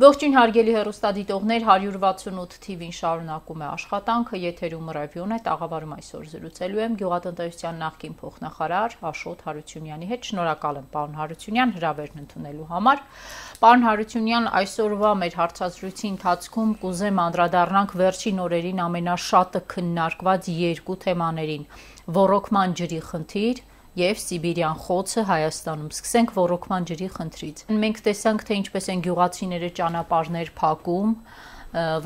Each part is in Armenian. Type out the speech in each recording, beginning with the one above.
Ողջույն հարգելի հեռուստադիտողներ, 168 TV-ին շարունակում է աշխատանքը, եթերում ռևյուն է, տաղավարում այսօր զրուցելու եմ գյուղատնտեսության նախկին փոխնախարար Աշոտ Հարությունյանի հետ։ Շնորհակալ եմ, պարոն Հարությունյան, հրավերն ընդունելու համար։ Պարոն Հարությունյան, այսօրվա մեր հարցազրույցի ընթացքում կուզեմ անդրադառնանք վերջին օրերին ամենաշատը քննարկված երկու թեմաներին՝ ոռոգման ջրի խնդիր եւ Սիբիրյան խոցը Հայաստանում։ Սկսենք ոռոգման ջրի խնդրից։ Մենք տեսանք, թե ինչպես են գյուղացիները ճանապարհներ փակում,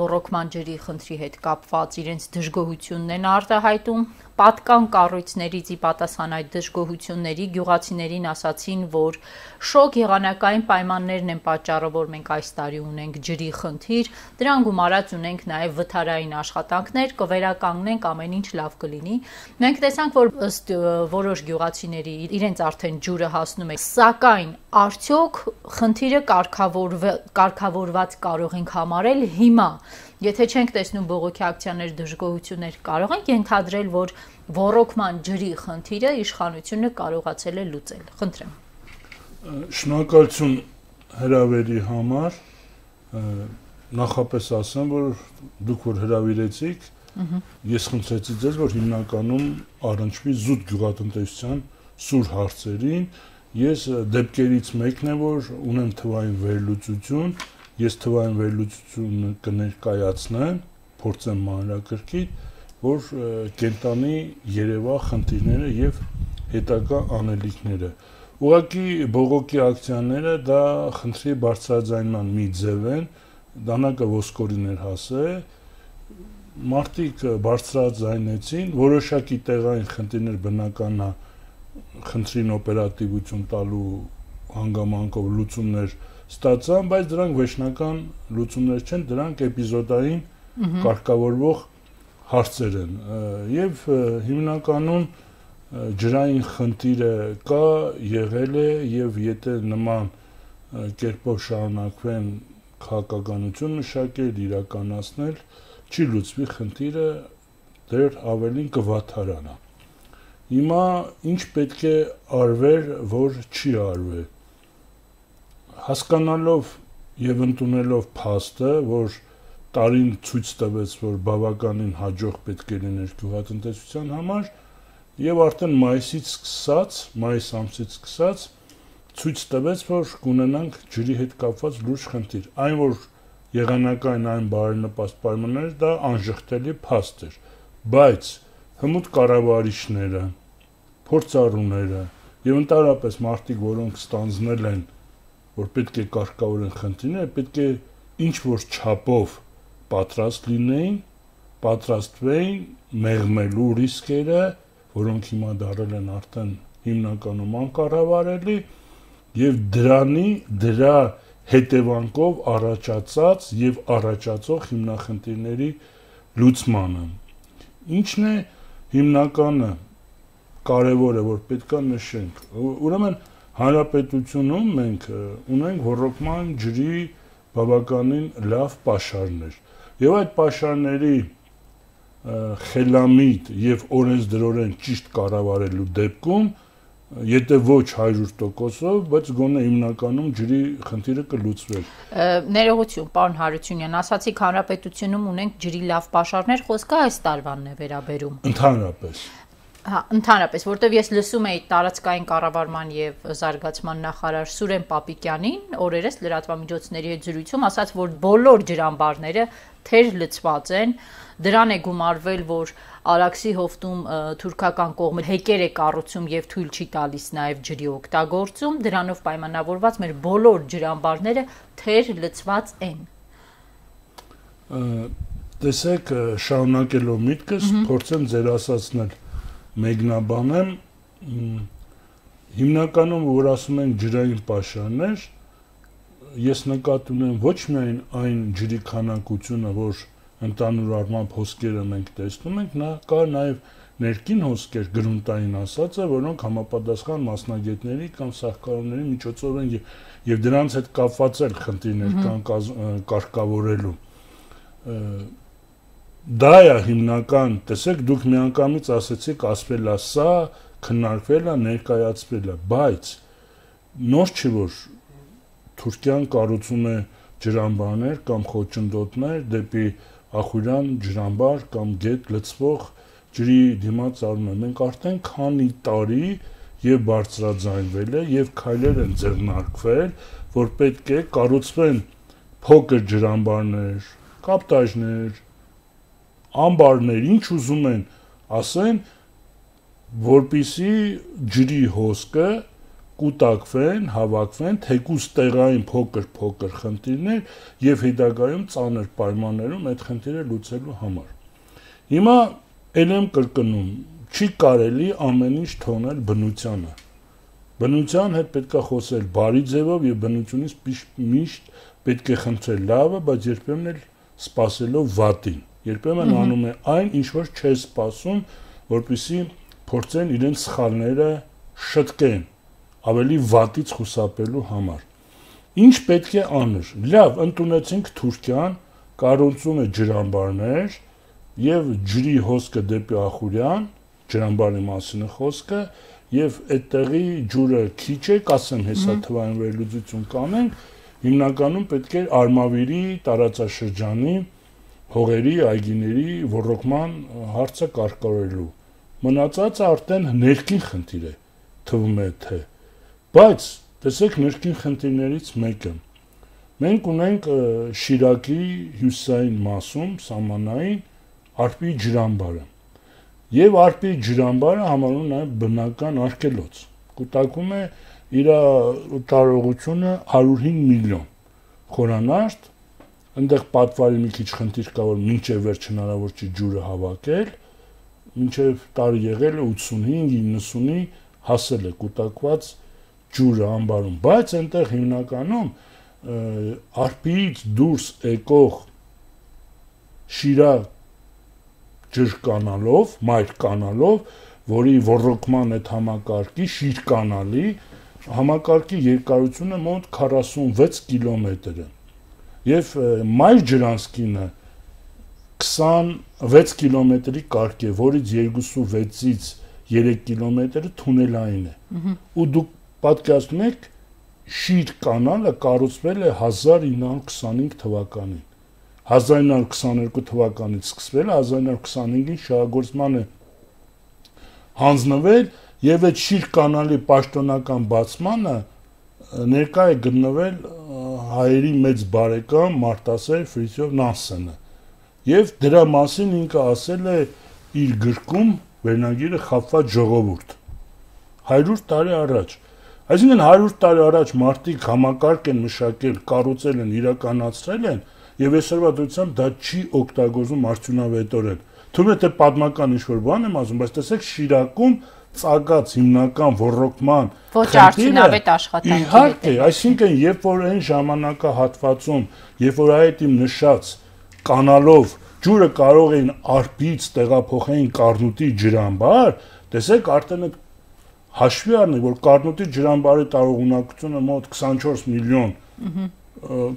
ոռոգման ջրի խնդրի հետ կապված իրենց դժգոհությունն են արտահայտում։ Պատկան կառույցներից ի պատասխան այդ դժգոհությունների գյուղացիներին ասացին, որ շոգ եղանակային պայմաններն են պատճառը, որ մենք այս տարի ունենք ջրի խնդիր, դրան գումարած ունենք նաև վթարային աշխատանքներ, կվերականգնենք, ամեն ինչ լավ կլինի։ Մենք տեսանք, որ ըստ որոշ գյուղացիների իրենց արդեն ջուրը հասնում է, սակայն արդյոք խնդիրը կարգավորված կարող ենք համարել հիմա։ Եթե չենք տեսնում բողոքի ակցիաներ, դժգոհություններ, կարող ենք ենթադրել, որ ոռոգման ջրի խնդիրը իշխանությունը կարողացել է լուծել։ Խնդրեմ։ Շնորհակալություն հրավերի համար։ Նախապես ասեմ, որ դուք որ հրավիրեցիք, ես խնդրեցի ձեզ, որ հիմնականում առնչվի զուտ գյուղատնտեսության սուր հարցերին։ Ես դեպքերից մեկն է, որ ունեմ թվային վերլուծություն, ես թվային վերլուծությունը կներկայացնեմ, փորձեմ մանրակրկիտ, որ կենտանի երևա խնդիրները եւ հետագա անելիքները։ Ուղղակի բողոքի ակցիաները դա խնդրի բարձրաձայնման մի ձև են, դանակը ոսկորին էր հասել, մարդիկ բարձրաձայնեցին, որոշակի տեղային խնդիրներ բնական է խնդրին օպերատիվություն տալու հանգամանքով լուծումներ ստացան, բայց դրանք վերջնական լուծումներ չեն, դրանք էպիզոդային կարգավորվող հարցեր են եւ հիմնականում ջրային խնդիրը կա, եղել է եւ եթե նման կերպով շարունակվեն քաղաքականություն մշակել, իրականացնել, չի լուծվի խնդիրը, դեռ ավելին կվաթարանա։ Հիմա ինչ պետք է արվեր, որ չի արվել։ Հասկանալով եւ ընդունելով փաստը, որ տարին ցույց տվեց, որ բավականին հաջող պետք է լիներ գյուղատնտեսության համար, եւ արդեն մայիս ամսից սկսած ցույց տվեց, որ կունենանք ջրի հետ կապված լուրջ խնդիր։ Այն որ եղանակային այն բարենպաստ պայմանները դա անժխտելի փաստ էր, բայց հմուտ կառավարիչները, փորձառուները եւ ընդհանրապես մարդիկ, որոնք ստանձնել են, որ պետք է կարգավորեն խնդիրները, պետք է ինչ որ չափով պատրաստ լինեին, պատրաստվեին մեղմելու ռիսկերը, որոնք հիմա դարել են արդեն հիմնականում անկառավարելի եւ դրա հետևանքով առաջացած եւ առաջացող հիմնախնդիրների լուծմանը։ Ինչն է հիմնականը կարևորը, որ պետքա նշենք։ Ուրեմն հանրապետությունում մենք ունենք ոռոգման ջրի բավականին լավ պաշարներ եւ այդ պաշարների խելամիտ եւ օրենսդրորեն ճիշտ կառավարելու դեպքում եթե ոչ 100%-ով, բայց գոնե հիմնականում ջրի խնդիրը կլուծվեր։ Ներողություն, պարոն Հարությունյան, ասացիք հանրապետությունում ունենք ջրի լավ պաշարներ, խոսքը այս տարվանն է վերաբերում։ Ընդհանրապես։ Հա, ընդհանրապես, որտեվ ես լսում էի տարածքային կառավարման եւ զարգացման նախարար Սուրեն Պապիկյանին օրերս լրատվամիջոցների հետ զրույցում ասաց, որ բոլոր ջրամբարները թեր լցված են, դրան է գումարվել, որ Արաքսի հովտում թուրքական կողմը հեկեր է կառուցում եւ թույլ չի տալիս նաեւ ջրի օգտագործում, դրանով պայմանավորված մեր բոլոր ջրամբարները թեր լցված են։ Տեսեք, շարունակելով միտքս, փորձեմ ձեր ասածնել մեկնաբանեմ, հիմնականում որ ասում են ջրային պաշարներ, ես նկատի ունեմ ոչ միայն այն ջրի քանակությունը, որ ընդհանուր առմամբ հոսքերը մենք տեսնում ենք, կա նաև ներքին հոսքեր, գրունտային ասածը, որոնք համապատասխան մասնագետների կամ սարքավորումների միջոցով են եւ դրանց հետ կապված էլ խնդիրներ կան կարգավորելու։ Դա է հիմնական, տեսեք, դուք միանգամից ասեցիք, ասվել է սա, քննարկվել է, ներկայացվել է, բայց նոր չի որ Թուրքիան կառուցում է ջրամբարներ կամ խոչընդոտներ դեպի Ախուրյան ջրամբար կամ գետ լցվող ջրի դիմաց արում են։ Մենք արդեն քանի տարի եւ բարձրաձայնվել է եւ քայլեր են ձեռնարկվել, որ պետք է կառուցվեն փոքր ջրամբարներ, կապտաժներ, ամբարներ, ինչ ուզում են ասեն, որպիսի ջրի հոսքը կուտակվեն, հավաքվեն, թեկուզ տեղային փոքր խնդիրներ եւ հետագայում ծանր պայմաններում այդ խնդիրը լուծելու համար։ Հիմա ել եմ կրկնում, չի կարելի ամեն ինչ թողնել բնությանը։ Բնության հետ պետք է խոսել բարի ձևով եւ բնությունից միշտ պետք է խնդրել լավը, բայց երբեմն էլ սпасելով վատին։ Երբեմն անում է այն, ինչ որ չէ սпасում, որպեսզի փորձեն իրենց սխալները շտկեն, ավելի վատից խուսափելու համար։ Ինչ պետք է անել։ Լավ, ընդունեցինք Թուրքիան, կառուցում է ջրամբարներ եւ ջրի հոսքը դեպի Ախուրյան, ջրամբարի մասին է խոսքը, եւ այդտեղի ջուրը քիչ է, կասեմ հեսա թվային վերլուծություն կանենք, հիմնականում պետք է Արմավիրի տարածաշրջանի հողերի, այգիների ոռոգման հարցը կարգավորելու։ Մնացածը արդեն ներքին խնդիր է, թվում է թե։ Բայց տեսեք ներքին խնդիրներից մեկը։ Մենք ունենք Շիրակի հյուսիսային մասում, սահմանային Արպի ջրամբարը։ Եվ Արպի ջրամբարը համարվում նաև բնական արգելոց։ Կուտակում է իր տարողությունը 105 միլիոն խորանարդ, այնտեղ պատվարի մի քիչ խնդիր կա, որ մինչև վերջ հնարավոր չի ջուրը հավաքել, մինչև տարի եղել է 85-90-ի հասել է կուտակված ջուրը ամբարում, բայց այնտեղ հիմնականում Արպիից դուրս եկող Շիրակ ջրկանալով, մայր կանալով, որի ոռոգման այդ համակարգի շիրկանալի համակարգի երկարությունը մոտ 46 կիլոմետր է։ Եվ մայր ջրանցքինը 26 կիլոմետրի կարգ է, որից 2.6-ից 3 կիլոմետրը թունելային է։ Ու դուք պատկերացնում եք, շիրկանալը կառուցվել է 1925 թվականին։ 1922 թվականից սկսվել, 1925-ին շահագործման է հանձնվել եւ այդ շիրկանալի պաշտոնական բացմանը ներկա է գտնվել հայերի մեծ բարեկամ Մարտասեր Ֆրիթյոֆ Նանսենը եւ դրա մասին ինքը ասել է իր գրքում վերնագիրը Խաբված ժողովուրդ 100 տարի առաջ։ Այսինքն 100 տարի առաջ մարդիկ համակարգ են մշակել, կառուցել են, իրականացրել են եւ այսօրվա դրությամբ դա չի օգտագործվում արդյունավետորեն։ Թվում է թե պատմական ինչ-որ բան եմ ասում, բայց տեսեք Շիրակում ծագած հիմնական ոռոգման ոչ արդյունավետ աշխատանքի իհարկե, այսինքն երբ որ այն ժամանակահատվածում, երբ որ այդ իմ նշած կանալով ջուրը կարող էին Արպից տեղափոխեին Կառնուտի ջրամբար, տեսեք արդեն այդ հաշվի առնենք, որ Կառնուտի ջրամբարի տարողունակությունը մոտ 24 միլիոն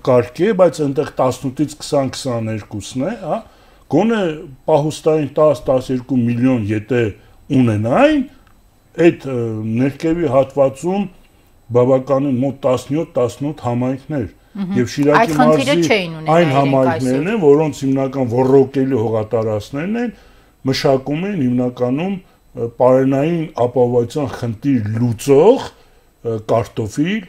կարգի է, բայց այնտեղ 18-ից 20-22-ն է, հա, գոնե պահուստային 10-12 միլիոն եթե ունենային, այդ ներքևի հատվածում բավականին մոտ 17-18 համայնքներ եւ Շիրակի մարզի այն համայնքներն են, որոնց հիմնական ոռոգելի հողատարածքներն են, մշակում են հիմնականում պարենային ապահովության խնդիր լուծող կարտոֆիլ,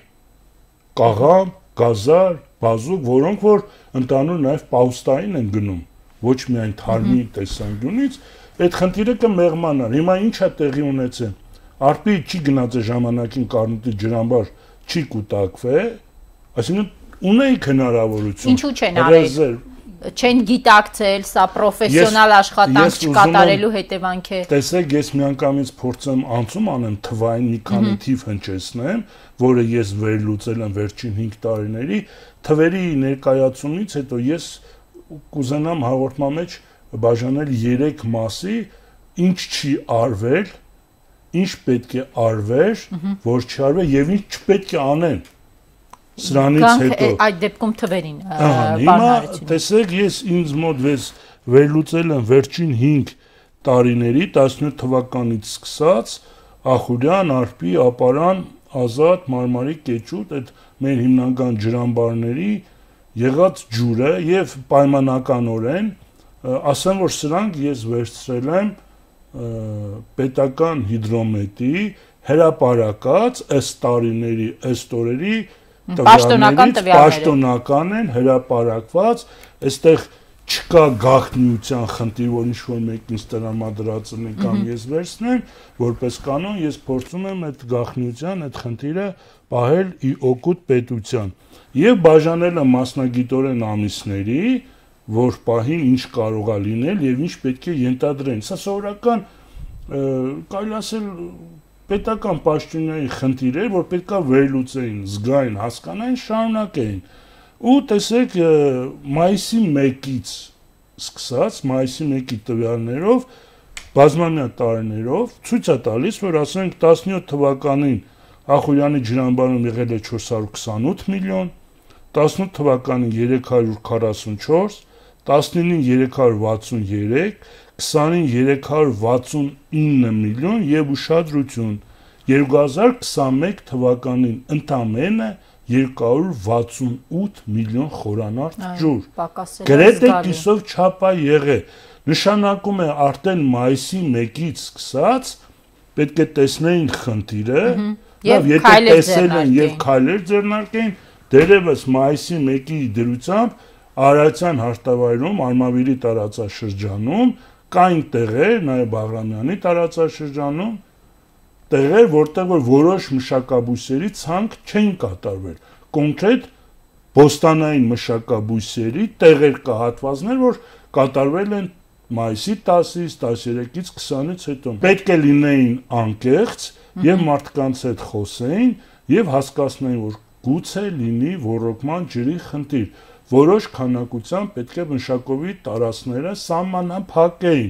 կաղամ, գազար, բազուկ, որոնք որ ընդհանուր նաև պահուստային են գնում, ոչ միայն թարմի տեսանկյունից, այդ խնդիրը կմեղմանար։ Հիմա ինչ է տեղի ունեցել։ Արպի չի գնաց է ժամանակին Կառնուտի ջրամբար չի կուտակվել, այսինքն ունեիք հնարավորություն։ Ինչու չեն արել։ Չեն գիտակցել, սա պրոֆեսիոնալ աշխատանք չկատարելու հետևանք է։ Տեսեք, ես միանգամից փորձեմ անցում անեմ թվային մի քանի թիվ հնչեցնեմ, որը ես վերլուծել եմ վերջին 5 տարիների, թվերի ներկայացումից հետո ես կուզենամ հաղորդման մեջ բաժանել 3 մասի, ինչ չի արվել, ինչ պետք է արվեր, որ չարվեր եւ ինչ չպետք է անեն։ Սրանից հետո այդ դեպքում թվերին հիմա տեսեք ես ինձ մոտ վերլուծել եմ վերջին 5 տարիների 17 թվականից սկսած Ախուրյան, Արպի, Ապարան, Ազատ, Մարմարի, Կեչուտ այդ մեր հիմնական ջրամբարների եղած ջուրը եւ պայմանականորեն ասեմ, որ սրանք ես վերցրել եմ պետական հիդրոմետրի հրապարակած ըստ տարիների, ըստ օրերի պաշտոնական են հրապարակված, այստեղ չկա գաղտնիության խնդիր, որ ինչ-որ մեկին տրամադրածնի կամ ես վերցնեմ, որպես կանոն ես փորձում եմ այդ գաղտնիության, այդ խնդիրը պահել ի օգուտ պետության եւ բաժանել եմ մասնագիտորեն ամիսների, որ պահին ինչ կարող է լինել եւ ինչ պետք է ենթադրեն։ Սա սովորական կարելի ասել պետական պաշտոնյայի խնդիր էր, որ պետքա վերլուծեին, զգային, հասկանային, շարունակեին։ Ու տեսեք մայիսի 1-ից սկսած, մայիսի 1-ի տվյալներով, բազմամյա տարիներով ցույց է տալիս, որ ասենք 17 թվականին Ախուրյանի ջրամբարում եղել է 428 միլիոն, 18 թվականին 344, 19-ին 363, 20-ին 369 միլիոն եւ ուշադրություն 2021 թվականին ընդամենը 268 միլիոն խորանարդ ջուր։ Գրեթե կիսով չափ է եղել։ Նշանակում է արդեն մայիսի 1-ից սկսած պետք է տեսնեին խնդիրը, եւ եթե տեսել են եւ քայլեր ձեռնարկեին, դերևս մայիսի 1-ի դրությամբ Արարատյան հարտավայրում, Արմավիրի տարածաշրջանում կային տեղեր, նաեւ Բաղրամյանի տարածաշրջանում տեղեր, որտեղ որ որոշ մշակաբույսերի ցանկ չէին կատարվել։ Կոնկրետ բոստանային մշակաբույսերի տեղեր կա հատվածներ, որ կատարվել են մայիսի 10-ից, 13-ից, 20-ից հետո։ Պետք է լինեին անկեղծ եւ մարդկանց հետ խոսեին եւ հասկացնեին, որ գուցե լինի ոռոգման ջրի խնդիր։ Որոշ քանակությամբ պետք է մշակովի տարածքները սահմանափակեին։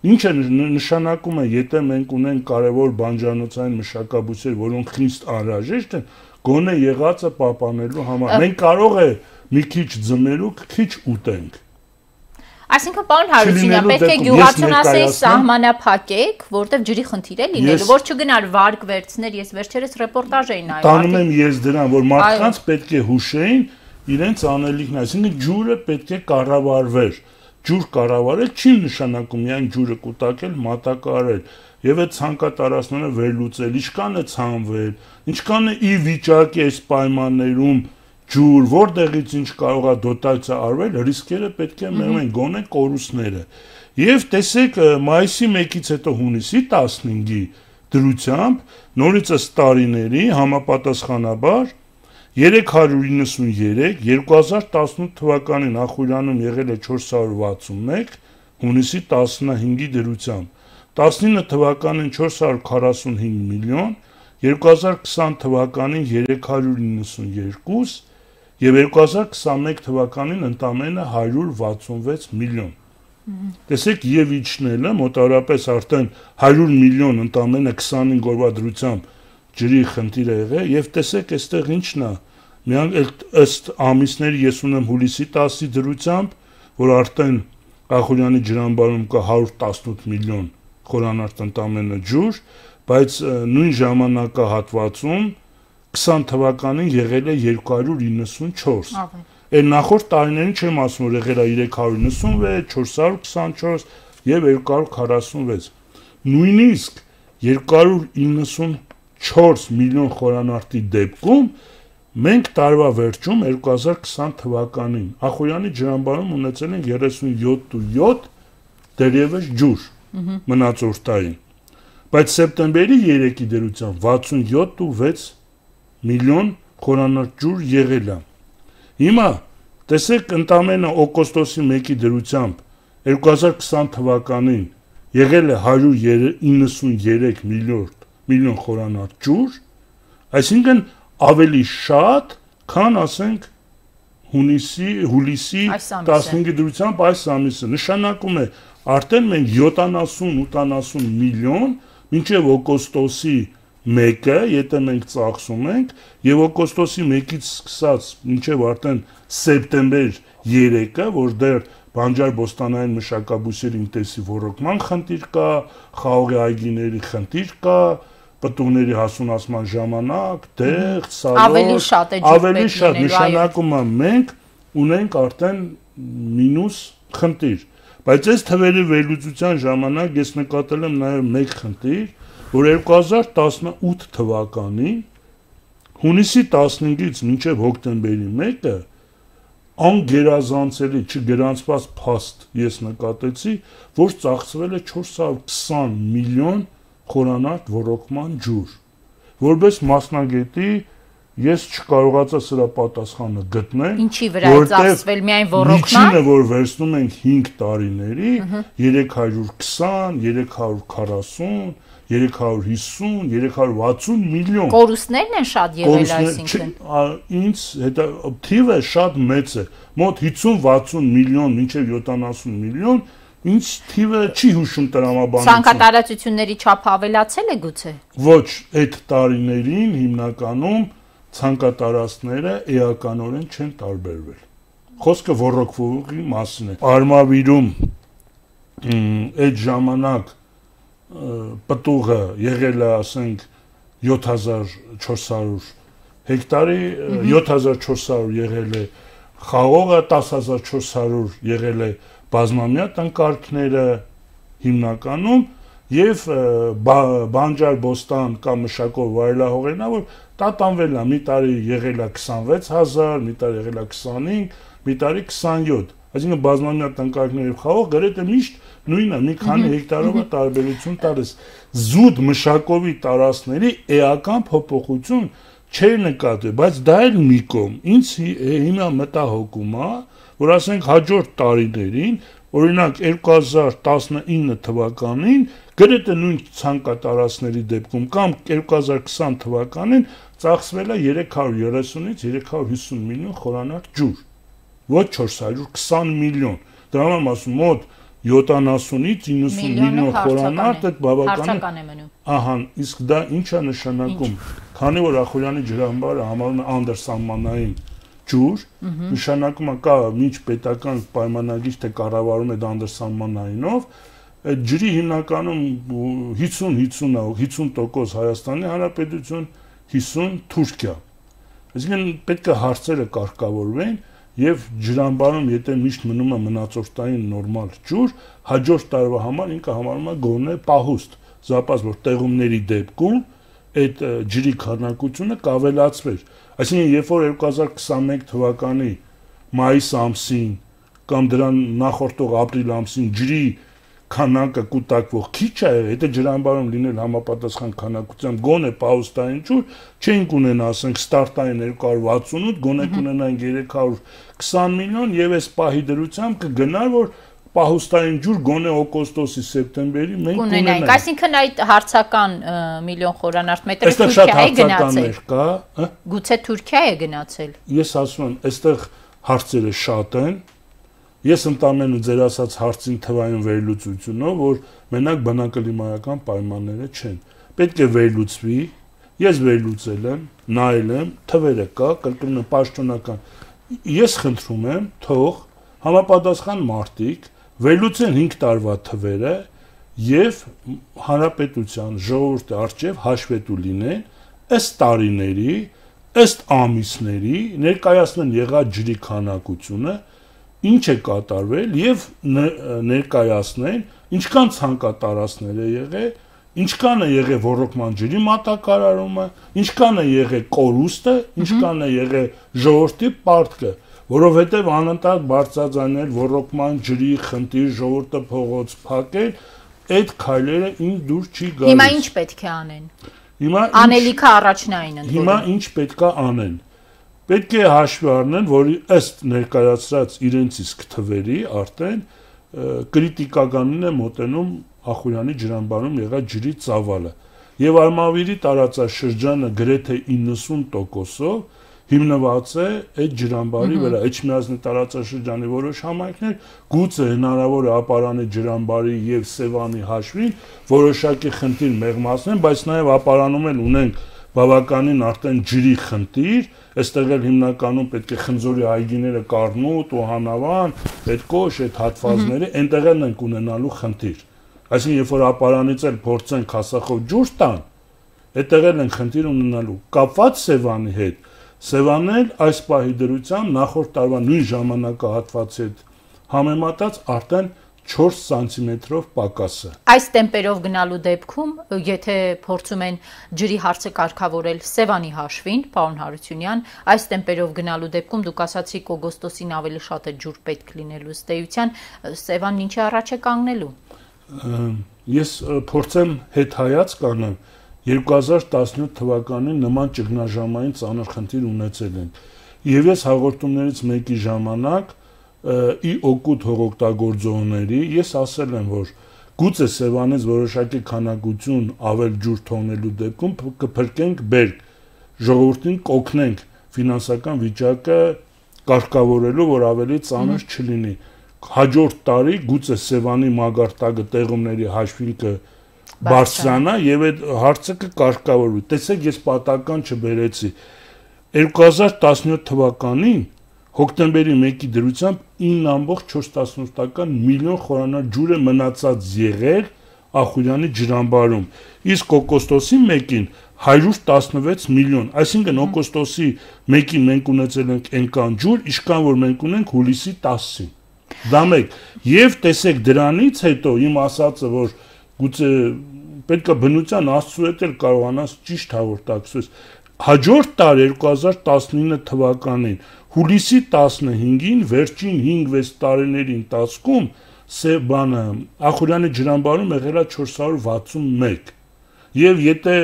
Ինչը նշանակում է, եթե մենք ունենք կարևոր բանջարանոցային մշակաբույսեր, որոնք խիստ անհրաժեշտ են, գոնե եղածը պահպանելու համար։ Մենք կարող է մի քիչ ձմերու, քիչ ուտենք։ Այսինքն, պարոն Հարությունյան, պետք է գյուղացուն սահմանափակեք, որտեղ ջրի խնդիր է լինելու, որ չգնար վարկ վերցներ, ես վերջերս ռեպորտաժ էի նայել։ Տանում եմ ես դրան, որ մարդկանց պետք է հուշեին իրենց անելիքն, այսինքն ջուրը պետք է կառավարվեր։ Ջուր կառավարել չի նշանակում միայն ջուրը կուտակել, մատակարարել եւ այդ ցանկատարածները վերլուծել, ինչքան է ցանվել, ինչքան է ի վիճակի այս պայմաններում ջուր, որտեղից ինչ կարող է դոտացիա արվել, ռիսկերը պետք է մեղմեն, գոնե կորուստները։ Եվ տեսեք, մայիսի 1-ից հետո հունիսի 15-ի դրությամբ նորից ըստ տարիների համապատասխանաբար 393, 2018 թվականին Ախուրյանում եղել է 461, հունիսի 15-ի դրությամբ, 19 թվականին 445 միլիոն, 2020 թվականին 392 եւ 2021 թվականին ընդամենը 166 միլիոն։ Տեսեք, եւ իջնելը մոտավորապես արդեն 100 միլիոն ընդամենը 25 օրվա դրությամբ ջրի խնդիր է եղել եւ տեսեք այստեղ ինչն է միայն ըստ ամիսների ես ունեմ հուլիսի 10-ի դրությամբ, որ արդեն Ախուրյանի ջրամբարում կա 118 միլիոն խորանարդ ընդամենը ջուր, բայց նույն ժամանակահատվածում 20 թվականին եղել է 294։ Այն նախորդ տարիներին չեմ ասում, որ եղել է 396, 424 եւ 246։ Նույնիսկ 294 միլիոն խորանարդի դեպքում մենք տարվա վերջում 2020 թվականին Ախուրյանի ջրամբարում ունեցել ենք 37.7 դերևս ջուր մնացորդային, բայց սեպտեմբերի 3-ի դերությամբ 67.6 միլիոն խորանարդ ջուր եղել է։ Հիմա տեսեք ընդամենը օգոստոսի 1-ի դրությամբ 2020 թվականին եղել է 193 միլիոն խորանարդ ջուր, այսինքն ավելի շատ, քան ասենք հուլիսի 15-ի դրությամբ այս ամիսը։ Նշանակում է արդեն մենք 70-80 միլիոն մինչև օգոստոսի 1-ը, եթե մենք ծախսում ենք, եւ օգոստոսի 1-ից սկսած մինչև արդեն սեպտեմբեր 3-ը, որ դեռ բանջար-բոստանային մշակաբույսերի ինտենսիվ ոռոգման խնդիր կա, խաղողի այգիների խնդիր կա, պտուղների հասունացման ժամանակ, տեղ, սալոր, ավելի շատ նշանակում է մենք ունենք արդեն մինուս խնդիր։ Բայց այս թվերի վերլուծության ժամանակ ես նկատել եմ նաև մեկ խնդիր, որ 2018 թվականին հունիսի 15-ից մինչև հոկտեմբերի 1-ը անգերազանցելի չգրանցված փաստ ես նկատեցի, որ ծախսվել է 420 միլիոն խորանարդ ոռոգման ջուր։ Որպես մասնագետի ես չկարողացա սրա պատասխանը գտնել, ինչի վրա է ծախսվել միայն ոռոգման։ Միջինը, որ վերցնում ենք 5 տարիների, 320, 340, 350, 360 միլիոն։ Կորուստներն են շատ եղել, այսինքն։ Ինձ հետո թիվը շատ մեծ է, մոտ 50-60 միլիոն, մինչև 70 միլիոն, ինձ թիվը չի հուշում տրամաբանություն։ Ցանկատարածությունների չափը ավելացել է գուցե։ Ոչ, այդ տարիներին հիմնականում ցանկատարածները էականորեն չեն տարբերվել։ Խոսքը ոռոգվողի մասին է։ Արմավիրում այդ ժամանակ պտուղը եղել է, ասենք, 7400 հեկտարի, 7400 եղել է խաղողը, 10400 եղել է բազմամյա տնկարկները հիմնականում եւ բանջար բոստան կամ մշակով վայելահողերն, որ տատանվել է, մի տարի եղել է 26000, մի տարի եղել է 25, մի տարի 27։ Այսինքն բազմամյա տնկարկներ եւ խաղող գրեթե միշտ նույնը, մի քանի հեկտարով է տարբերություն տալիս։ Զուտ մշակովի տարածքների էական փոփոխություն չէր նկատվել, բայց դա էլ մի կողմ։ Ինձ հիմա մտահոգում է, որ ասենք հաջորդ տարիներին, օրինակ 2019 թվականին գրեթե նույն ցանկատարածքների դեպքում կամ 2020 թվականին ծախսվել է 330-ից 350 միլիոն խորանարդ ջուր, ոչ 420 միլիոն։ Դրա համար ասում մոտ 70-ից 90 միլիոն խորանարդ այդ բավական է մնում։ Ահա, իսկ դա ինչ է նշանակում, քանի որ Ախուրյանի ջրամբարը համարվում է անդրսահմանային ջուր, նշանակում է կա միջ պետական պայմանագիր թե կառավարում է անդրսահմանայինով, այդ ջրի հիմնականում 50% Հայաստանի Հանրապետություն, 50 Թուրքիա։ Այսինքն պետք է հարցերը կարգավորվեն եւ ջրամբարում եթե միշտ մնում է մնացորդային նորմալ ջուր, հաջորդ տարվա համար ինքը համարվում է գոնե պահուստ, զապաս որ տեղումների դեպքում այդ ջրի քանակությունը կավելացվեր։ Այսինքն երբ որ 2021 թվականի մայիս ամսին կամ դրան նախորդող ապրիլ ամսին ջրի քանակը կուտակվող քիչ է, եթե ջրամբարում լինել համապատասխան քանակությամբ գոնե պահուստային ջուր, չենք ունենա, ասենք, ստարտային 268, գոնե կունենանք 320 միլիոն եւ այս պահի դրությամբ կգնար, որ պահուստային ջուր գոնե օգոստոսի սեպտեմբերի մենք կունենանք։ Այսինքն այդ հարցական միլիոն խորանարդ մետրը Թուրքիա է գնացել։ Գուցե Թուրքիա է գնացել։ Ես ասում եմ, այստեղ հարցերը շատ են։ Ես ընդամենը ձեր ասած հարցին թվային վերլուծությունով, որ մենակ բնակլիմայական պայմանները չեն։ Պետք է վերլուծվի, ես վերլուծել եմ, նայել եմ, թվերը կա, կրկնում եմ պաշտոնական։ Ես խնդրում եմ, թող համապատասխան մարդիկ վերլուծեն 5 տարվա թվերը եւ հանրապետության ժողովրդի արչեւ հաշվետու լինեն ըստ տարիների, ըստ ամիսների, ներկայացնեն եղած ջրի քանակությունը, ինչ է կատարվել եւ ներկայացնեն ինչքան ցանկատարածքներ է եղել, ինչքան է եղել ոռոգման ջրի մատակարարումը, ինչքան է եղել կորուստը, ինչքան է եղել ժողովրդի պարտքը, որովհետեւ անընդհատ բարձրաձայնել ոռոգման ջրի խնդիր, ժողովուրդը փողոց փակել, այդ քայլերը ինձ դուր չի գալիս։ Հիմա ինչ պետք է անեն։ Հիմա անելիքը առաջնային ընդհանուր։ Հիմա ինչ պետք է անեն։ Պետք է հաշվի առնեն, որ ըստ ներկայացրած իրենց իսկ թվերի արդեն կրիտիկականին է մոտենում Ախուրյանի ջրամբարում եղած ջրի ծավալը։ Եվ Արմավիրի տարածաշրջանը գրեթե 90%-ով հիմնված է այդ ջրամբարի վրա, Էջմիածնի տարածաշրջանի որոշ համայնքներ գուցե հնարավոր է ապարանի ջրամբարի եւ Սևանի հաշվին որոշակի խնդիր մեղմացնեն, բայց նաեւ ապարանում էլ ունենք բավականին արդեն ջրի խնդիր, այստեղ էլ հիմնականում պետք է խնձորի այգիները Կառնուտ ու Հանավան, այդ կոշ, այդ հատվածները, այնտեղ էլ ենք ունենալու խնդիր։ Այսինքն երբ որ ապարանից էլ փորձենք հասախով ջուր տան, այդտեղ էլ են խնդիր ունենալու։ Կապված Սևանի հետ, Սևանն այս պահի դրությամբ նախորդ տարվա նույն ժամանակահատվածի հետ համեմատած արդեն 4 սանտիմետրով պակաս է։ Այս տեմպերով գնալու դեպքում, եթե փորձում են ջրի հարցը կարգավորել Սևանի հաշվին, պարոն Հարությունյան, այս տեմպերով գնալու դեպքում դուք ասացիք օգոստոսին ավելի շատ է ջուր պետք լինելու ըստ էության, Սևանն ինչի առաջ է կանգնելու։ Ես փորձեմ հետհայաց կանեմ 2017 թվականին նման ճգնաժամային ծանր խնդիր ունեցել ենք։ Եվ ես հաղորդումներից մեկի ժամանակ ի օգուտ հողօգտագործողների ես ասել եմ, որ գուցե Սևանից որոշակի քանակություն ավել ջուր թողնելու դեպքում կփրկենք բերք, ժողովրդին կօգնենք ֆինանսական վիճակը կարգավորելու, որ ավելի ծանր չլինի։ Հաջորդ տարի գուցե Սևանի մագարտակը տեղումների հաշվին բարձրանա եւ այդ հարցը կկարգավորվի։ Տեսեք, ես պատական չբերեցի 2017 թվականին հոկտեմբերի 1-ի դրությամբ 9.4 միլիոն խորանար ջուր է մնացած եղել Ախուրյանի ջրամբարում, իսկ օգոստոսի 1-ին 116 միլիոն, այսինքն օգոստոսի 1-ին մենք ունեցել ենք այնքան ջուր, ինչքան որ մենք ունենք հուլիսի 10-ին։ Դա մեկ, եւ տեսեք դրանից հետո իմ ասածը, որ գուցե պետք է բնության Աստծո հետ էլ կարողանաս ճիշտ հաղորդակցես։ Հաջորդ տարի 2019 թվականին հուլիսի 15-ին վերջին 5-6 տարիների ընթացքում Սևանը Ախուրյանի ջրամբարում եղել է 461։ Եվ եթե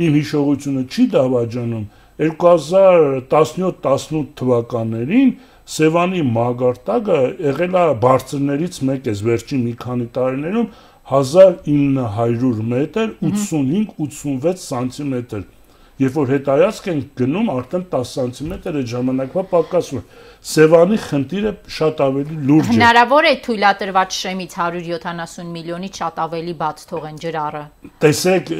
իմ հիշողությունը չի դավաճանում, 2017-18 թվականներին Սևանի մագարտակը եղել է բարձրներից մեկ է վերջին մի քանի տարիներում 1900 մետր, 85-86 սանտիմետր։ Երբ որ հետայացք ենք գնում, արդեն 10 սանտիմետր այդ ժամանակվա պակասում է։ Սևանի խնդիրը շատ ավելի լուրջ է։ Հնարավոր է թույլատրված շեմից 170 միլիոնից շատ ավելի բաց թողեն ջրառը։ Տեսեք,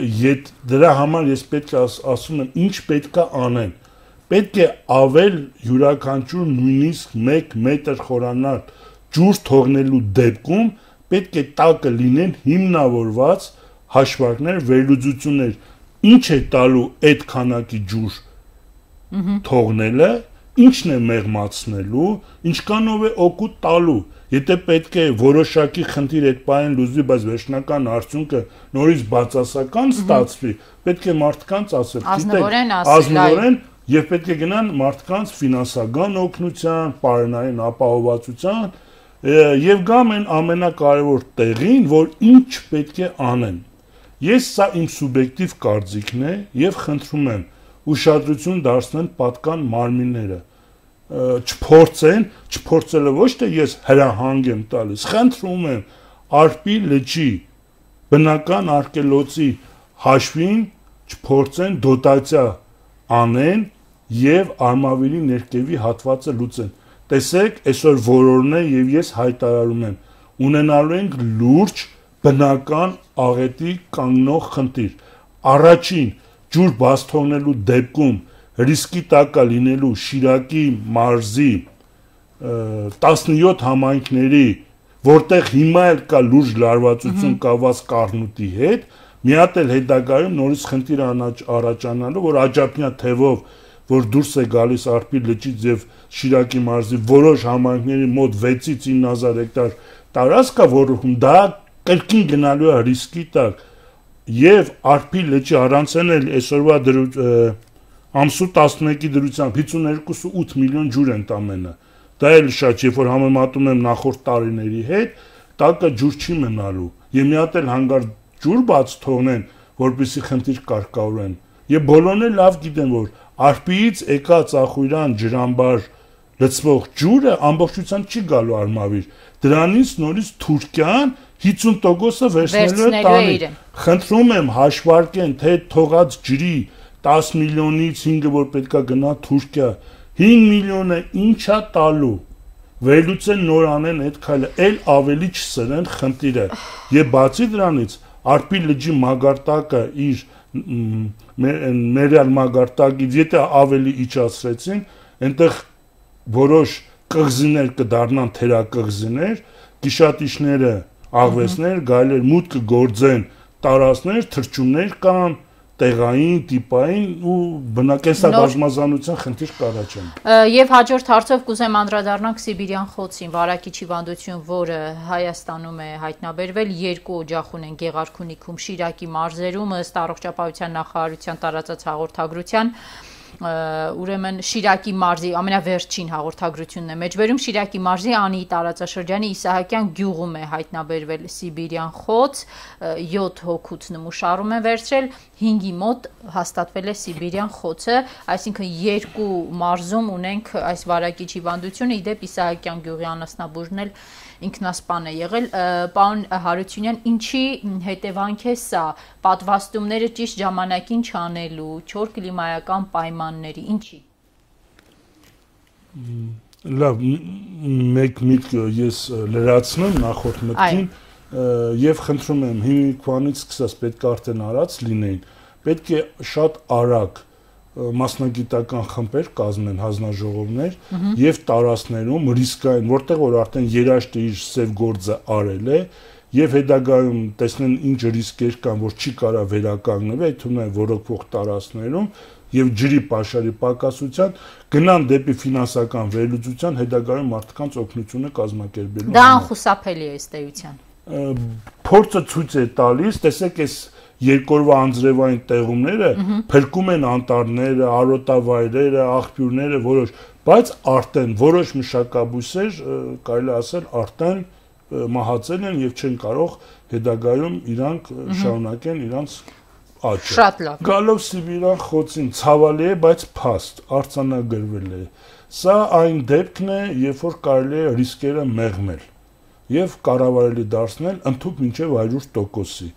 դրա համար ես պետք է ասում եմ, ինչ պետք է անեն։ Պետք է ավել յուրաքանչյուր նույնիսկ 1 մետր խորանար ջուր թողնելու դեպքում պետք է տակը լինեն հիմնավորված հաշվարկներ, վերլուծություններ, ինչ է տալու այդ քանակի ջուր թողնելը, ինչն է մեղմացնելու, ինչքանով է օգուտ տալու։ Եթե պետք է որոշակի խնդիր այդ բանին լուծվի, բայց վերջնական արդյունքը նորից բացասական ստացվի, պետք է մարդկանց ասել, ազնվորեն եւ պետք է գնան մարդկանց ֆինանսական օգնության, պարենային ապահովվածության եւ գամ են ամենակարևոր տեղին, որ ինչ պետք է անեն։ Ես սա իմ սուբյեկտիվ կարծիքն է եւ խնդրում եմ ուշադրություն դարձնեն պատկան մարմինները, չփորձելը ոչ թե ես հրահանգ եմ տալիս, խնդրում եմ Արփի լճի բնական արգելոցի հաշվին չփորձեն դոտացիա անեն եւ Արմավիրի ներքևի հատվածը լուծեն։ Տեսեք, այսօր որորն է եւ ես հայտարարում եմ, ունենալու ենք լուրջ բնական աղետի կանգնող խնդիր։ Առաջին ջուր բաց թողնելու դեպքում ռիսկի տակ է լինելու Շիրակի մարզի 17 համայնքների, որտեղ հիմա էլ կա լուրջ լարվածություն կաված Կառնուտի հետ, մի հատ էլ հետագայում նորից խնդիր առաջանալու, որ աջափնյա թևով, որ դուրս է գալիս Արփի լճից եւ Շիրակի մարզի որոշ համայնքների մոտ 6-ից 9000 հեկտար տարածք կա, որում դա կրկին գնալու է ռիսկի տակ, եւ Արփի լճի առանցեն էլ այսօրվա ամսու 11-ի դրությամբ 52.8 միլիոն ջուր ընդամենը։ Դա էլ շատ, երբ որ համեմատում եմ նախորդ տարիների հետ, տակը ջուր չի մնալու։ Եվ մի հատ էլ հանգարտ ջուր բաց թողնեն, որպեսզի խնդիր կարգավորեն։ Եվ բոլորն էլ լավ գիտեն, որ Արփիից եկած Ախուրյան ջրամբար լցվող ջուրը ամբողջությամբ չի գալու Արմավիր։ Դրանից նորից Թուրքիան 50%-ը վերցնելու է տանի։ Խնդրում եմ հաշվարկեն, թե թողած ջրի 10 միլիոնից 5-ը որ պետքա գնա Թուրքիա, 5 միլիոնը ինչա տալու։ Վերլուծեն նոր անեն այդ քայլը, էլ ավելի չսրեն խնդիրը։ Եվ բացի դրանից Արփի լճի մագարտակը իր մերյալ մագարտակից եթե ավելի իջացրեցին, այնտեղ որոշ կղզիներ կդառնան թերակղզիներ, գիշատիչները աղվեսներ, գայլեր մուտք կգործեն տարածքներ, թռչուններ կան, տեղային, տիպային ու բնակենսաբազմազանության խնդիր կառաջանա։ Եվ հաջորդ հարցով կուզեմ անդրադառնանք Սիբիրյան խոցին, վարակիչ հիվանդություն, որը Հայաստանում է հայտնաբերվել, 2 օջախ ունեն Գեղարքունիքում, Շիրակի մարզերում, ըստ առողջապահության նախարարության տարածած հաղորդագրության, ուրեմն Շիրակի մարզի ամենավերջին հաղորդագրությունն է մեջբերում, Շիրակի մարզի Անի տարածաշրջանի Իսահակյան գյուղում է հայտնաբերվել Սիբիրյան խոց, 7 հոգուց նմուշարում են վերցրել, 5-ի մոտ հաստատվել է Սիբիրյան խոցը, այսինքն 2 մարզում ունենք այս վարակիչ հիվանդությունը, իդեպ Իսահակյան գյուղի անասնաբուժն էլ ինքնասպան է եղել, պարոն Հարությունյան, ինչի հետևանք է սա, պատվաստումները ճիշտ ժամանակին չանելու, չոր կլիմայական պայմանների, ինչի։ Լավ, մեկ միտք ես լրացնեմ նախորդ մտքին եւ խնդրում եմ հիմիկվանից սկսած պետք է արդեն արած լինեին, պետք է շատ արագ մասնագիտական խմբեր կազմեն հանձնաժողովներ եւ տարածներում ռիսկային, որտեղ որ արդեն երաշտը իր սև գործը արել է եւ հետագայում տեսնեն ինչ ռիսկեր կան, որ չի կարա վերականգնվել, այդ թվում է ոռոգվող տարածներում եւ ջրի պաշարի պակասության գնան դեպի ֆինանսական վերլուծության, հետագայում մարդկանց օգնությունը կազմակերպելու։ Դա անխուսափելի է ըստ էության։ Փորձը ցույց է տալիս, տեսեք այս երկորվա անձրևային տեղումները փրկում են անտառները, արոտավայրերը, աղբյուրները որոշ, բայց արդեն որոշ մշակաբույսեր կարելի ասել արդեն մահացել են եւ չեն կարող հետագայում իրանք շարունակեն իրանց աճը։ Շատ լավ։ Գալով Սիբիրյան խոցին ցավալի է, բայց փաստ արձանագրվել է։ Սա այն դեպքն է, երբ որ կարելի է ռիսկերը մեղմել եւ կառավարելի դարձնել ընդհանուր մինչեւ 100%-ի։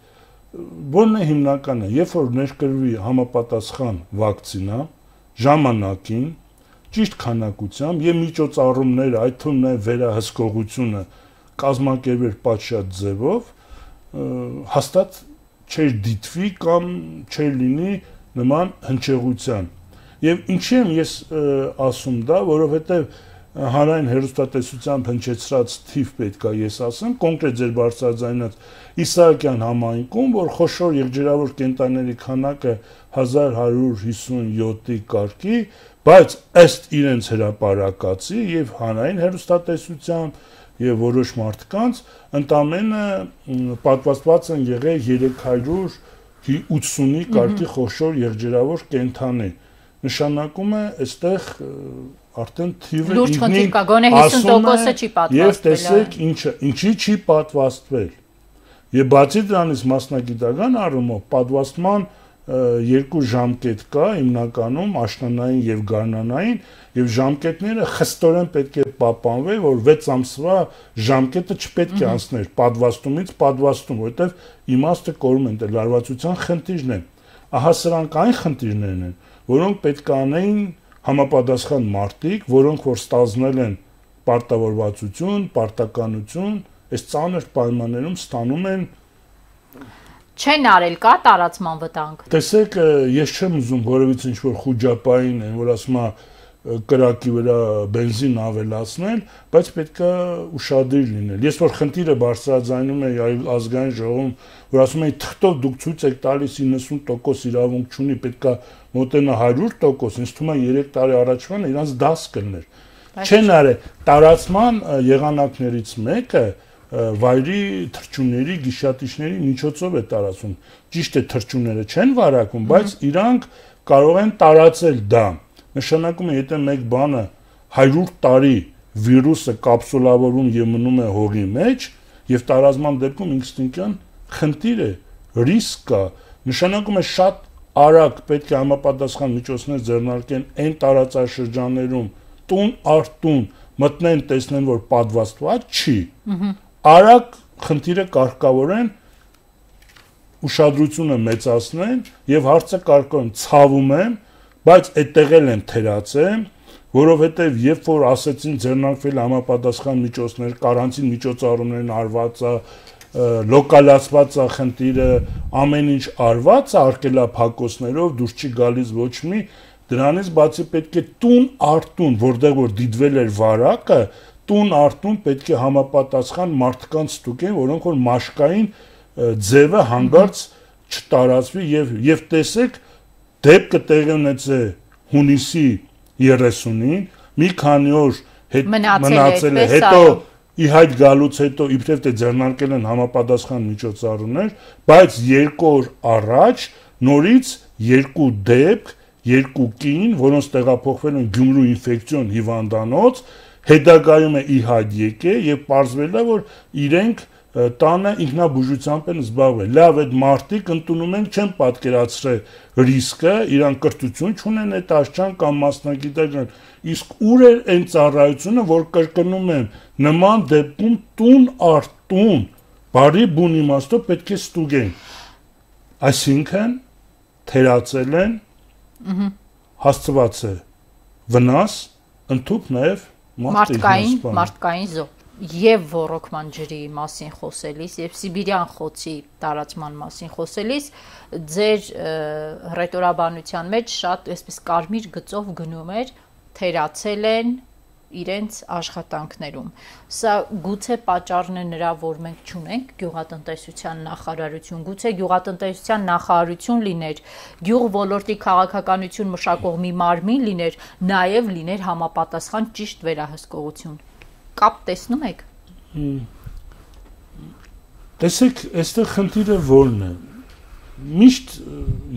Որն է հիմնականը, երբ որ ներկրվի համապատասխան վակցինա ժամանակին, ճիշտ քանակությամբ եւ միջոցառումները, այդ թվում նաեւ վերահսկողությունը կազմակերպել պատշաճ ձևով, հաստատ չէր դիտվի կամ չէր լինի նման հնչեղության։ Եվ ինչի եմ ես ասում դա, որովհետեւ հանրային հեռուստատեսությամբ հնչեցրած թիվ պետքա ես ասեմ, կոնկրետ ձեր բարձրաձայնած Իսահակյան համայնքում, որ խոշոր եղջերավոր կենտրոնների քանակը 1157-ի կարգի, բայց ըստ իրենց հրապարակածի եւ հանրային հեռուստատեսությամբ եւ որոշ մարդկանց ընդամենը պատվաստված են եղել 380-ի կարգի խոշոր եղջերավոր կենտրոններ։ Նշանակում է այստեղ արդեն թիվը լուրջ խնդիր կա, գոնե 50%-ը չի պատվաստվել։ Եվ տեսեք ինչի չի պատվաստվել։ Եվ բացի դրանից մասնագիտական առումով պատվաստման 2 ժամկետ կա հիմնականում աշնանային եւ գարնանային եւ ժամկետները խստորեն պետք է պահպանվեն, որ 6 ամսվա ժամկետը չպետք է անցներ պատվաստումից պատվաստում, որովհետեւ իմաստը կորում են, լարվածության խնդիրն է։ Ահա սրանք այն խնդիրներն են, որոնք պետք է անեին համապատասխան մարդիկ, որոնք որ ստանձնել են պարտավորվածություն, պարտականություն, այս ծանր պայմաններում ստանում են չեն արել, կա տարածման վտանգ։ Տեսեք, ես չեմ ուզում որևիցե ինչ-որ խուճապային են, որ ասում է կրակի վրա բենզին ավելացնել, բայց պետք է ուշադիր լինել։ Ես որ խնդիրը բարձրաձայնում եմ ազգային ժողովում, որ ասում են թղթով դուք ցույց եք տալիս 90% իրավունք չունի, պետք է մոտենա 100%, ինձ թվում է 3 տարի առաջվան իրանց դաս կլներ։ Չեն արել տարածման եղանակներից մեկը վայրի թռչունների, գիշատիչների միջոցով է տարածում։ Ճիշտ է, թռչունները չեն վարակում, բայց իրանք կարող են տարածել դա։ Նշանակում է, եթե մեկ բանը 100 տարի վիրուսը կապսուլավորում եւ մնում է հողի մեջ եւ տարածման դեպքում ինստինկտիվ խնդիր է, ռիսկ կա։ Նշանակում է շատ արագ պետք է համապատասխան միջոցներ ձեռնարկեն այն տարածաշրջաններում տուն առ տուն մտնեն, տեսնեն, որ պատվաստված չի։ Արագ խնդիրը կարգավորեն, ուշադրությունը մեծացնեն եւ հարցը կարգավորեն, ցավում եմ, բայց այդտեղ են թերացել, որովհետեւ երբ որ ասեցին ձեռնարկվել համապատասխան միջոցներ, կարանտին միջոցառումներն արված է, լոկալացված է խնդիրը, ամեն ինչ արված է արկելափակոսներով, դուրս չի գալիս ոչ մի, դրանից բացի պետք է տուն առ տուն, որտեղ որ դիտվել էր վարակը, տուն առ տուն պետք է համապատասխան մարդկանց ստուգեն, որոնք որ մաշկային ձևը հանգարց չտարածվի եւ տեսեք դեպքը տեղի ունեցե հունիսի 30-ին, մի քանի օր մնացել է, հետո իհայտ գալուց հետո իբրև թե ձեռնարկել են համապատասխան միջոցառումներ, բայց 2 օր առաջ նորից 2 դեպք, 2 կին, որոնց տեղափոխվել են Գյումրու ինֆեկցիոն հիվանդանոց, հետագայում է իհայտ եկել եւ պարզվել է, որ իրենք տանը ինքնաբուժությամբ են զբաղվել։ Լավ, այդ մարդիկ ընդունում են, չեն պատկերացրել ռիսկը, իրան կրթություն չունեն այդ աշխան կամ մասնագիտական։ Իսկ ուր է այն ծառայությունը, որ կրկնում եմ, նման դեպքում տուն առ տուն, բարի բուն իմաստով պետք է ստուգեն։ Այսինքն թերացել են, հասցված է վնաս, ընդհանուր նաև մարդկային զոհ եւ ռոռոկման ջրի մասին խոսելիս եւ Սիբիրյան խոցի տարածման մասին խոսելիս ձեր ռետորաբանության մեջ շատ այսպես կարմիր գծով գնում էր թերացել են իրենց աշխատանքներում։ Սա գուցե պատճառն է նրա, որ մենք չունենք գյուղատնտեսության նախարարություն, գուցե գյուղատնտեսության նախարարություն լիներ, գյուղ ոլորտի քաղաքականություն մշակող մի մարմին լիներ, նաև լիներ համապատասխան ճիշտ վերահսկողություն։ Կապ տեսնում եք։ Տեսեք, այստեղ խնդիրը որն է։ Միշտ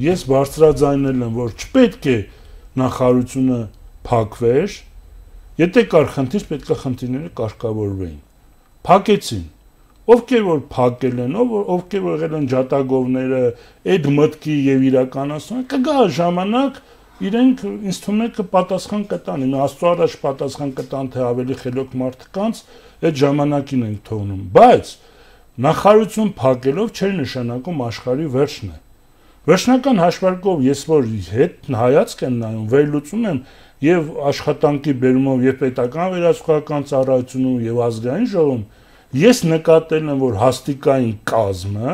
ես բարձրաձայնել եմ, որ չպետք է նախարարությունը փակվեր, եթե կար խնդիր, պետք է խնդիրները կարգավորվեին։ Փակեցին։ Ովքեր որ փակել են, ովքեր որ եղել են ջատագովները, այդ մտքի եւ իրականացումը, կգա ժամանակ իրենք ինձ թվում է կպատասխան կտան, Աստծո առաջ պատասխան կտան, թե ավելի խելոք մարդկանց այդ ժամանակին են թողնում, բայց նախարարություն փակելով չէր նշանակում աշխարհի վերջն է։ Վերջնական հաշվարկով ես որ հետ հայացք եմ նայում, վերլուծում եմ եւ աշխատանքի բերումով եւ պետական վերահսկողական ծառայությունում եւ ազգային ժողովում, ես նկատել եմ, որ հաստիկային կազմը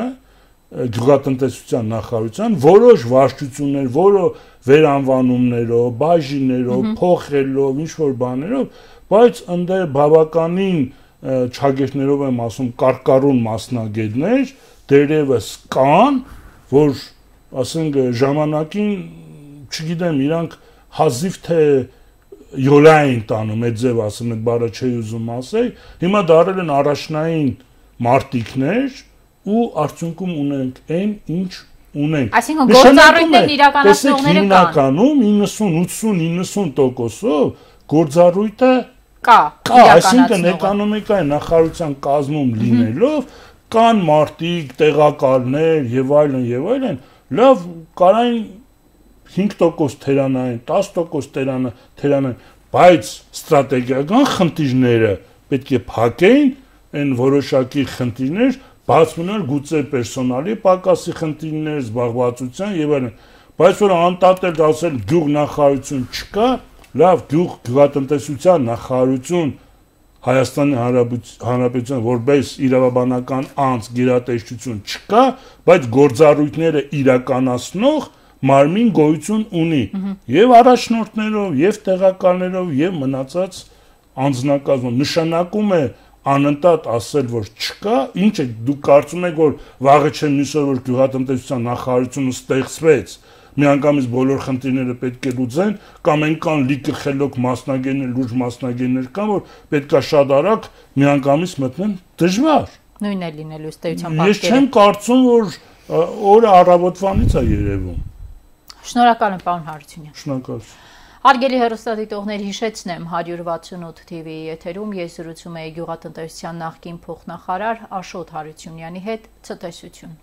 գյուղատնտեսության նախարարության որոշ վարչություններ, որոշ վերանվանումներով, բաժիններով, փոխելով, ինչ որ բաներով, բայց ընդ բավականին չագեշներով եմ ասում կարկառուն մասնագետներ դերևս կան, որ ասենք ժամանակին, չգիտեմ, իրանք հազիվ թե յոլային տանում, այդ ձև ասում, այդ բառը չի ուզում ասել, հիմա դարել են առաջնային մարտիկներ ու արդյունքում ունենք այն, ինչ ունենք։ Այսինքն գործառույթներն իրականացնողները կան։ Հիմնականում 90-90% գործառույթը կա, այսինքն էկոնոմիկայի նախարարության կազմում լինելով կան մարտիկ, տեղակալներ եւ այլն, լավ կարային 5% թերանային, 10% թերանային, բայց ստրատեգիական խնդիրները պետք է փակեին, այն որոշակի խնդիրներ, բաց մնար գուցե պերսոնալի պակասի խնդիրներ, զբաղվածության եւ այլն, բայց որ անտատել ասել գյուղ նախարարություն չկա, լավ գյուղատնտեսության նախարարություն Հայաստանի Հանրապետության որպես իրավաբանական անձ գերատեսչություն չկա, բայց գործառույթները իրականացնող մարմին գոյություն ունի եւ առաջնորդներով, եւ տեղակալներով, եւ մնացած անձնակազմով նշանակում է անընդհատ ասել, որ չկա, ինչ է դուք կարծում եք, որ վաղը չեմ նշել, որ գյուղատնտեսության նախարարությունը ստեղծվեց, միանգամից բոլոր խնդիրները պետք է լուծեն, կամ այնքան լիքը խելոք մասնագետներ, լուրջ մասնագետներ կան, որ պետքա շատ արագ միանգամից մտնեն դժվար։ Նույնն է լինելու ըստ էության պատկերը։ Ես չեմ կարծում, որ օրը առավոտվանից է երևում։ Շնորհակալ եմ, պարոն Հարությունյան։ Շնորհակալություն։ Հարգելի հեռուստադիտողներ, հիշեցնեմ 168 TV-ի եթերում ես զրուցում եի գյուղատնտեսության նախկին փոխնախարար Աշոտ Հարությունյանի հետ, ցտեսություն։